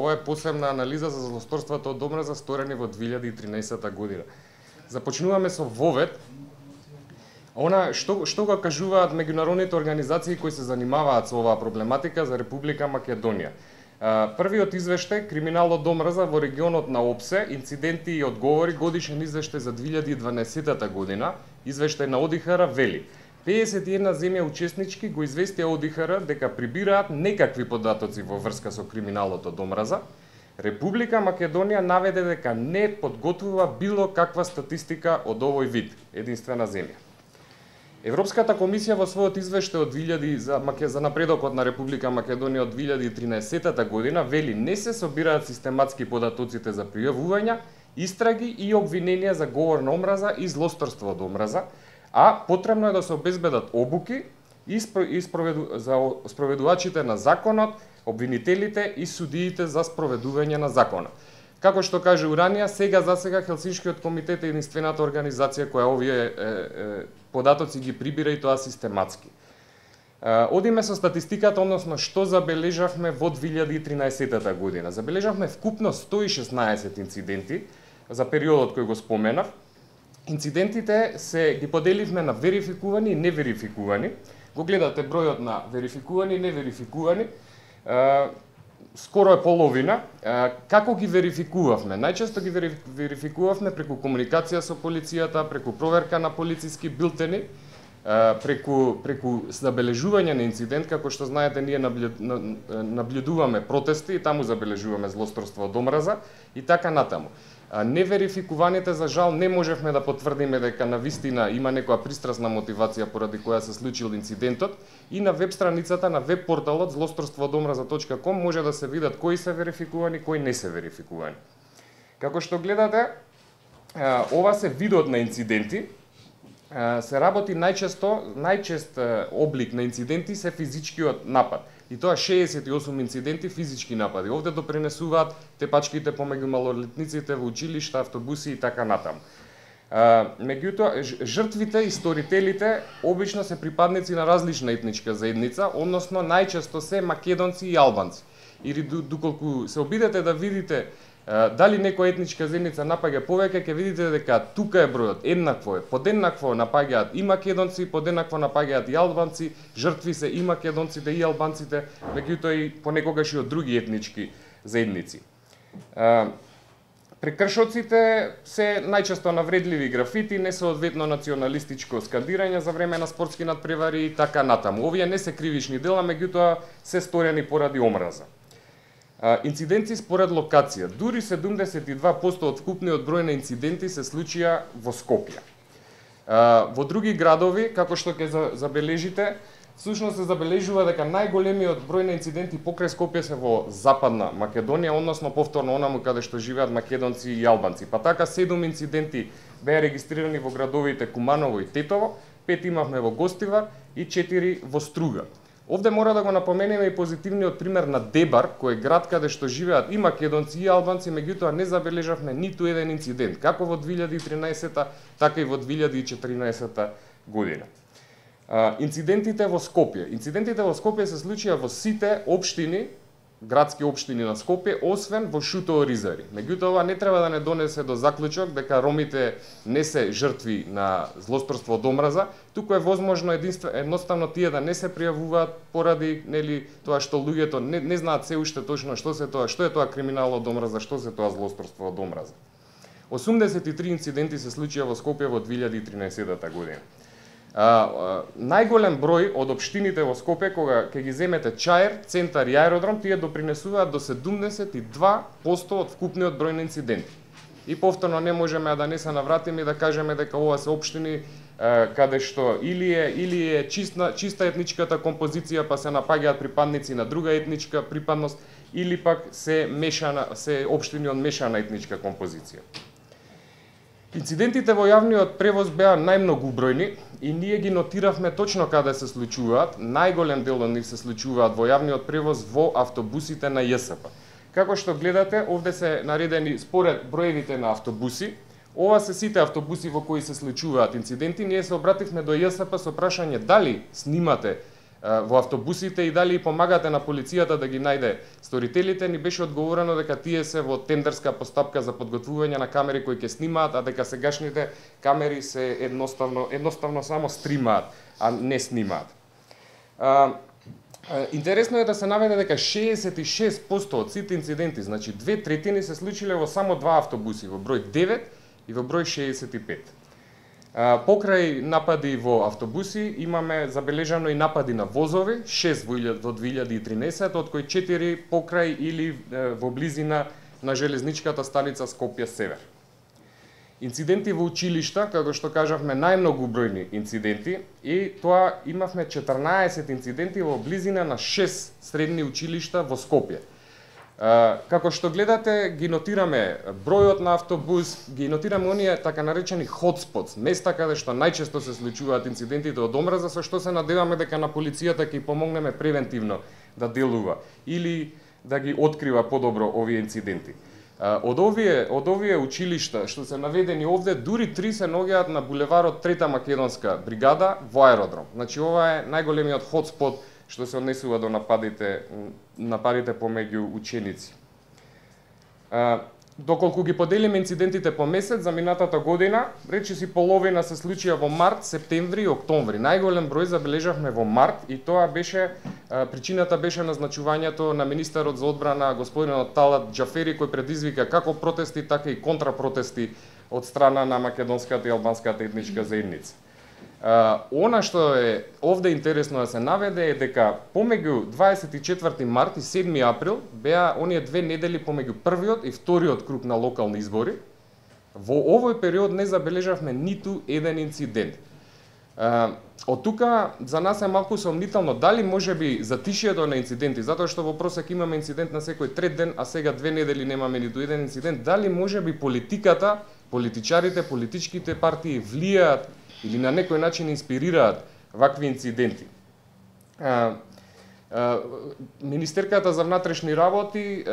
Ова е посебна анализа за злосторствата од омраза сторени во 2013 година. Започнуваме со вовед. Што го кажуваат меѓународните организации кои се занимаваат со оваа проблематика за Република Македонија. Првиот извештај, криминал од омраза во регионот на ОПСЕ, инциденти и одговори, годишен извештај за 2012 година, извештај на ОДИХР вели: 51 земја учеснички го известија ОДИХР дека прибираат некакви податоци во врска со криминалот од омраза. Република Македонија наведе дека не подготвува било каква статистика од овој вид, единствена земја. Европската комисија во својот извештај за напредокот на Република Македонија од 2013 година вели не се собираат систематски податоците за пријавувања, истраги и обвиненија за говор на омраза и злосторство од омраза, а потребно е да се обезбедат обуки за спроведувачите на законот, обвинителите и судиите за спроведување на законот. Како што кажа Уранија, засега Хелсиншкиот комитет е единствената организација која овие податоци ги прибира и тоа систематски. Одиме со статистиката, односно што забележавме во 2013 година. Забележавме вкупно 116 инциденти за периодот кој го споменав. Инцидентите ги поделивме на верификувани и неверификувани. Го гледате бројот на верификувани и неверификувани. Скоро е половина. Како ги верификувавме? Најчесто ги верификувавме преку комуникација со полицијата, преку проверка на полициски билтени, преку забележување на инцидент, како што знаете ние наблюдуваме протести и таму забележуваме злосторство од омраза и така натаму. Неверификуваните, за жал, не можевме да потврдиме дека навистина има некоја пристрасна мотивација поради која се случил инцидентот и на веб страницата на веб порталот zlostorstvoodомраза.com може да се видат кои се верификувани, кои не се верификувани. Како што гледате, ова се видот на инциденти. Се работи најчест облик на инциденти се физичкиот напад. И тоа 68 инциденти физички напади. Овде допринесуваат тепачките помеѓу малолетниците во училишта, автобуси и така натаму. Меѓутоа, жртвите и сторителите обично се припадници на различна етничка заедница, односно најчесто се македонци и албанци. Или доколку се обидете да видите дали некоја етничка заедница напаѓа повеќе, ќе видите дека тука е бројот еднакво е. Подеднакво напаѓаат и македонци, подеднакво напаѓаат и албанци, жртви се и македонците и албанците, меѓутоа и понекогаш и од други етнички заедници. Прекршоците се најчесто навредливи графити, несоодветно националистичко скандирање за време на спортски надпревари и така натаму. Овие не се кривични дела, меѓутоа се сторени поради омраза. Инциденти според локација. Дури 72% од вкупниот број на инциденти се случија во Скопје. Во други градови, како што ќе забележите, всушност се забележува дека најголемиот број на инциденти покрај Скопје се во Западна Македонија, односно повторно онаму каде што живеат македонци и албанци. Па така 7 инциденти беа регистрирани во градовите Куманово и Тетово, 5 имавме во Гостивар и 4 во Струга. Овде мора да го напоменеме и позитивниот пример на Дебар, кој е град каде што живеат и македонци и албанци, меѓутоа не забележавме ниту еден инцидент, како во 2013, така и во 2014 година. Инцидентите во Скопје. Инцидентите во Скопје се случија во сите општини, градски општини на Скопје, освен во Шутооризари. Меѓутоа, ова не треба да не донесе до заклучок дека ромите не се жртви на злосторство од омраза, туку е возможно едноставно тие да не се пријавуваат поради тоа што луѓето не знаат се уште точно што е тоа криминал од омраза, што се тоа злосторство од омраза. 83 инциденти се случија во Скопје во 2013 година. Најголем број од општините во Скопје, кога ќе ги земете Чаир, Центар и Аеродром, тие допринесуваат до 72% од вкупниот број на инциденти. И повторно не можеме да не се навратиме и да кажеме дека ова се општини каде што или е чиста етничката композиција, па се напаѓаат припадници на друга етничка припадност, или пак се општини од мешана етничка композиција. Инцидентите во јавниот превоз беа најмногубројни и ние ги нотиравме точно каде се случуваат. Најголем дел од нив се случуваат во јавниот превоз во автобусите на ЈСП. Како што гледате, овде се наредени според броевите на автобуси. Ова се сите автобуси во кои се случуваат инциденти. Ние се обративме до ЈСП со прашање дали снимате во автобусите и дали помагате на полицијата да ги најде сторителите, ни беше одговорено дека тие се во тендерска постапка за подготвување на камери кои ќе снимаат, а дека сегашните камери се едноставно само стримаат, а не снимаат. Интересно е да се наведе дека 66% од сите инциденти, значи 2/3 се случиле во само два автобуси, во број 9 и во број 65. Покрај напади во автобуси имаме забележано и напади на возови, 6 во 2013, од кои 4 покрај или во близина на железничката станица Скопје Север. Инциденти во училишта, како што кажавме, најмногу бројни инциденти, и тоа имавме 14 инциденти во близина на 6 средни училишта во Скопје. Како што гледате, ги нотираме бројот на автобус, ги нотираме оние така наречени hotspots, места каде што најчесто се случуваат инцидентите од омраза, со што се надеваме дека на полицијата ќе помогнеме превентивно да делува или да ги открива подобро овие инциденти. Од овие училишта што се наведени овде, дури 3 се наоѓаат на булеварот Трета македонска бригада во аеродром. Значи ова е најголемиот хотспот што се однесува до нападите помеѓу ученици. Доколку ги поделиме инцидентите по месец за минатата година, речиси половина се случија во март, септември и октомври. Најголем број забележавме во март и тоа беше причината беше назначувањето на министерот за одбрана господинот Талат Џафери, кој предизвика како протести така и контрапротести од страна на македонската и албанската етничка заедница. Она што е овде интересно да се наведе е дека помеѓу 24 март и 7 април беа оние 2 недели помеѓу првиот и вториот круг на локални избори. Во овој период не забележавме ниту еден инцидент. Од тука за нас е малку сомнително дали можеби затишието на инциденти, затоа што во просек имаме инцидент на секој трет ден, а сега 2 недели немаме ниту еден инцидент, дали можеби политиката, политичарите, политичките партии влијаат или на некој начин инспирираат вакви инциденти. Министерката за внатрешни работи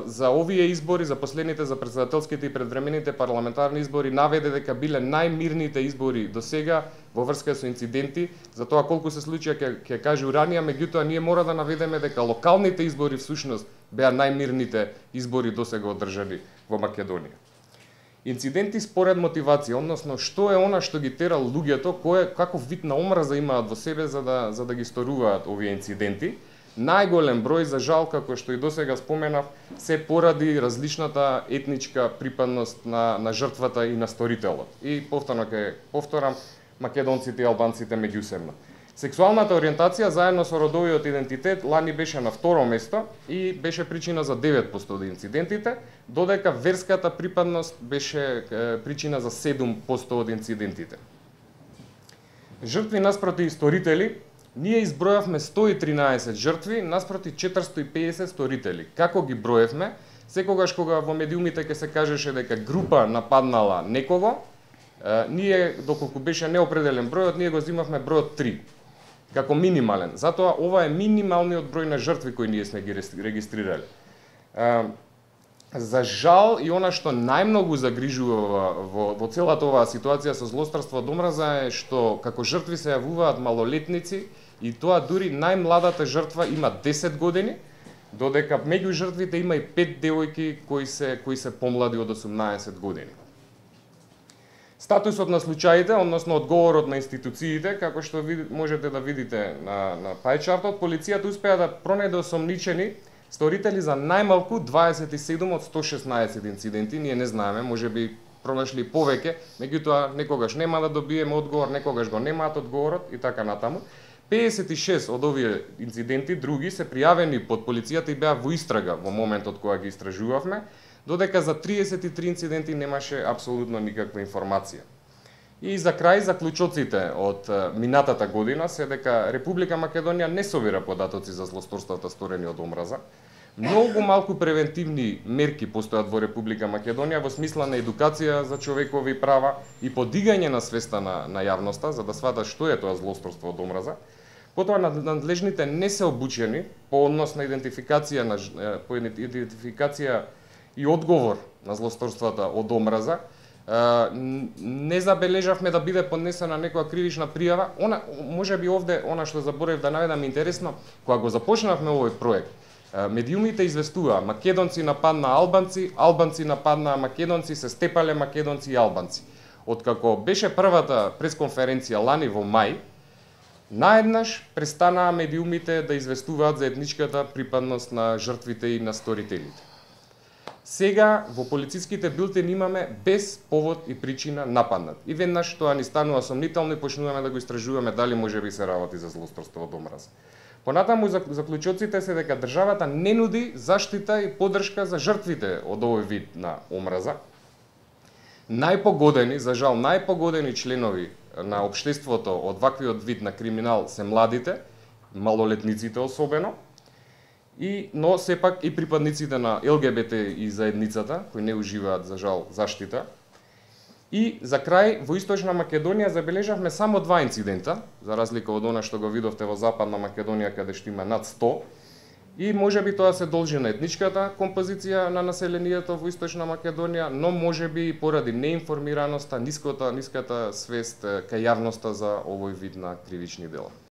за овие избори, за последните, за претседателските и предвремените парламентарни избори, наведе дека биле најмирните избори до сега во врска со инциденти. За тоа колку се случија ќе кажу ранија, меѓутоа ние мора да наведеме дека локалните избори всушност беа најмирните избори до сега одржани во Македонија. Инциденти според мотивација, односно што е она што ги тера луѓето, каков вид на омраза имаат во себе за да ги сторуваат овие инциденти. Најголем број, за жал, како што и досега споменав, се поради различната етничка припадност на жртвата и на сторителот. И повторно ќе повторам, македонците и албанците меѓусебно. Сексуалната ориентација заедно со родовиот идентитет лани беше на второ место и беше причина за 9% од инцидентите, додека верската припадност беше причина за 7% од инцидентите. Жртви наспроти сторители, ние избројавме 113 жртви наспроти 450 сторители. Како ги броевме? Секогаш кога во медиумите ќе се кажеше дека група нападнала некого, ние, доколку беше неопределен бројот, ние го зимавме бројот 3. Како минимален. Затоа ова е минималниот број на жртви кои ние сме ги регистрирали. За жал и она што најмногу загрижува во целата оваа ситуација со злосторство од омраза е што како жртви се јавуваат малолетници и тоа дури најмладата жртва има 10 години, додека меѓу жртвите има и 5 девојки кои се помлади од 18 години. Статусот на случаите, односно одговорот на институциите, како што можете да видите на пајчартот, полицијата успеа да пронајде осомничени сторители за најмалку 27 од 116 инциденти. Ние не знаеме, можеби пронашли повеќе, меѓутоа некогаш нема да добиеме одговор, некогаш го немаат одговорот и така натаму. 56 од овие инциденти други се пријавени под полицијата и беа во истрага во моментот кога ги истражувавме, додека за 33 инциденти немаше апсолутно никаква информација. И за крај, заклучоците од минатата година се дека Република Македонија не собира податоци за злосторствата сторени од омраза. Многу малку превентивни мерки постојат во Република Македонија во смисла на едукација за човекови права и подигање на свеста на јавноста за да сватат што е тоа злосторство од омраза. Потоа надлежните не се обучени по однос на идентификација и одговор на злосторствата од омраза. не забележавме да биде поднесена некоја кривична пријава. Можеби овде, она што заборев да наведам интересно, кога го започнавме овој проект, медиумите известуваа македонци нападна албанци, албанци нападна македонци, се степале македонци и албанци. Откако беше првата пресконференција лани во мај, наеднаш престанаа медиумите да известуваат за етничката припадност на жртвите и на сторителите. Сега во полициските билтени имаме без повод и причина нападнат. И веднаш тоа ни станува сомнително и почнуваме да го истражуваме дали можеби се работи за злосторство од омраза. Понатаму заклучоците се дека државата не нуди заштита и поддршка за жртвите од овој вид на омраза. Најпогодени, за жал, најпогодени членови на општеството од ваквиот вид на криминал се младите, малолетниците особено, но сепак и припадниците на ЛГБТ и заедницата, кои не уживаат, за жал, заштита. И за крај, во Источна Македонија забележавме само 2 инцидента, за разлика од она што го видовте во Западна Македонија, каде што има над 100, и можеби тоа се должи на етничката композиција на населението во Источна Македонија, но можеби и поради неинформираноста, ниската свест кај јавноста за овој вид на кривични дела.